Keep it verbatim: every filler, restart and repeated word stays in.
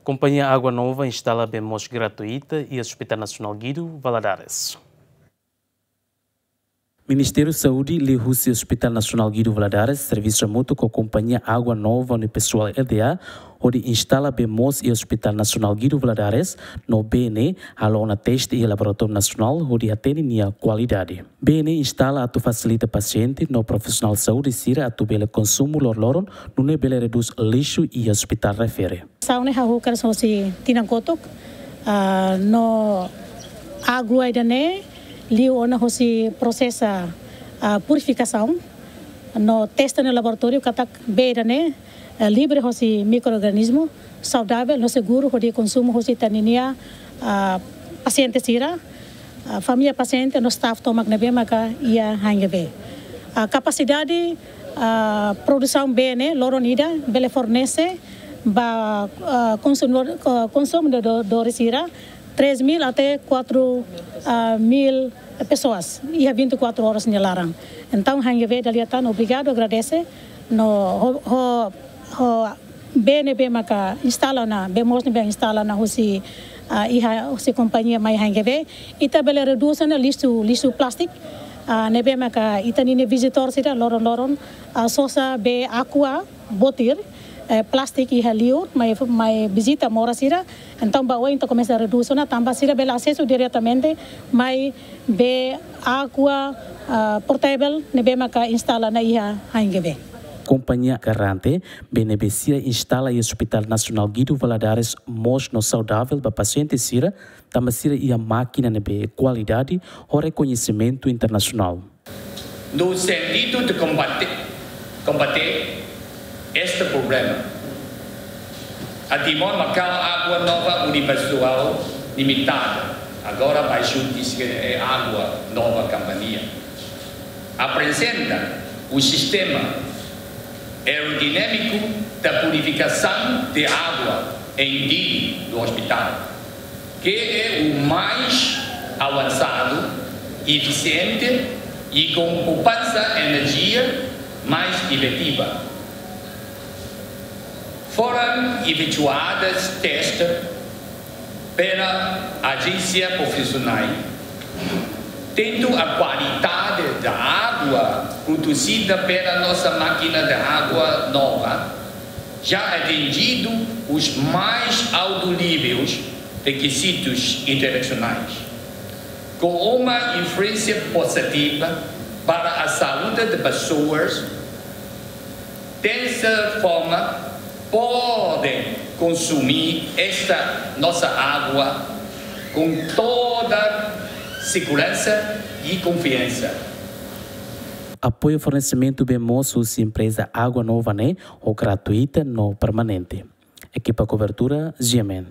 Kompañia Água Nova instala bee moos gratuita iha Hospital Nasionál Guido Valadares. Ministériu Saúde liuhusi Hospital Nasionál Guido Valadares servisu hamutuk ho Kompañia Água Nova nia pesoál L D A hodi instala bee moos iha Hospital Nasionál Guido Valadares, no bee ne'e halo ona teste iha Laboratóriu Nasionál hodi hatene nia kualidade. Bee ne'e instala atu fasilita pasiente no profisionál saúde sira atu bele konsumu loroloron, nune'e bele redús lixu iha hospital refere. Saune hahú kedas hosi tinan kotuk, ah, no água ida-ne'e liu ona hosi prosesa, ah, purifikasaun, no testa iha laboratóriu katak bee ida-ne'e, eh, livre hosi mikroorganizmu, saudavel no seguru hodi konsumu hosi ita-nia, ah, pasiente sira, ah, família pasiente no staff tomak ne'ebé maka iha H N G V. Ah, kapasidade, ah, produsaun bee ne'e loron ida bele fornese ba, ah, konsumidór, ah, konsumidór sira três mil até quatro mil pessoas iha vinte e quatro horas nia laran. Entaun, H N G V dala ida tan obrigadu, agradese no ho, ho, ho bee ne'ebé maka instala ona, bee moos ne'ebé instala ona hosi, ah, iha hosi kompañia mai H N G V, ita bele redús ona lixu, lixu plástiku, ah, ne'ebé maka ita-nia vizitór sira loron-loron, ah, sosa bee Aqua botir, eh, plástiku iha liur, mai, mai vizita moras sira. Entaun, ba oin ita komesa redús ona, tanba sira bele asesu diretamente mai bee água, ah, potável ne'ebé maka instala ona iha H N G V. Kompañia garante bee ne'ebé sira instala iha Hospital Nasionál Guido Valadares moos no saudavel ba pasiente sira, tanba sira iha mákina ne'ebé kualidade ho rekoñesimentu internasionál. No sentido de combate, combater este problema, a Timor Macau Água Nova Universal Limitada, agora bai xuntis ke é Água Nova Companhia, apresenta o sistema aerodinâmico da purificação de água em Dili do hospital, que é o mais avançado, eficiente e com poupança energia mais efetiva. Foram efetuadas testes pela agência profissional, tendo a qualidade da água produzida pela nossa máquina de água nova já atingido os mais altos níveis requisitos internacionais, com uma influência positiva para a saúde de pessoas. Dessa forma, podem consumir esta nossa água com toda segurança e confiança. Apoiu fornesimentu bee moos husi empreza Água Nova ne'e ho gratuita no permanente. Ekipa kobertura, G M N.